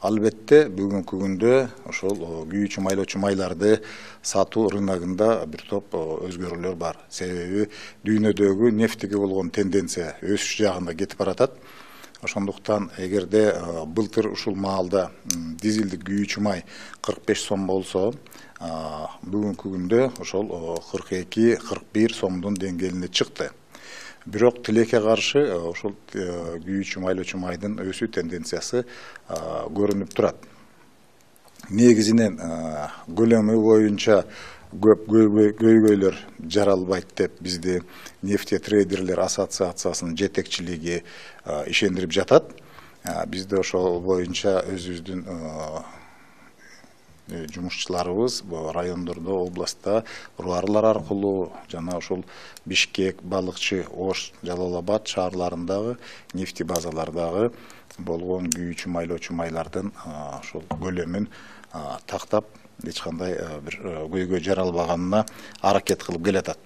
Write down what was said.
Албетте бүгүнкү күндө ошол күйүүчү майлоочу майларды сатуу рыногунда бир топ өзгөрүүлөр бар. Себеби дүйнөдөгү нефтиге болгон тенденция өсүш жагында кетип баратат. Ошондуктан эгерде былтыр ушул маалда дизелдик күйүүчү май 45 сом болсо, бүгүнкү күндө ошол 42-41 сомдун деңгээлине чыкты. Бирок тилекке каршы ошол күйүүчү майлоочу майдын өсүү тенденциясы көрүнүп турат. Негизинен көлөмү боюнча көп көйгөйлөр жаралбайт деп бизди нефтетрейдерлер ассоциациясынын жетекчилиги ишендирип жатат. Бизде ошол боюнча өзүбүздүн жумушчуларыбыз райондордо, областта руарлар аркылуу жана ошол Бишкек, Балыкчы, Ош, Жалал Абад шаарларындагы нефти базалардагы болгон күйүүчү майлоочу майлардын ошол көлөмүн тактап эч кандай бир көйгөй жаралбаганына аракет кылып келатат.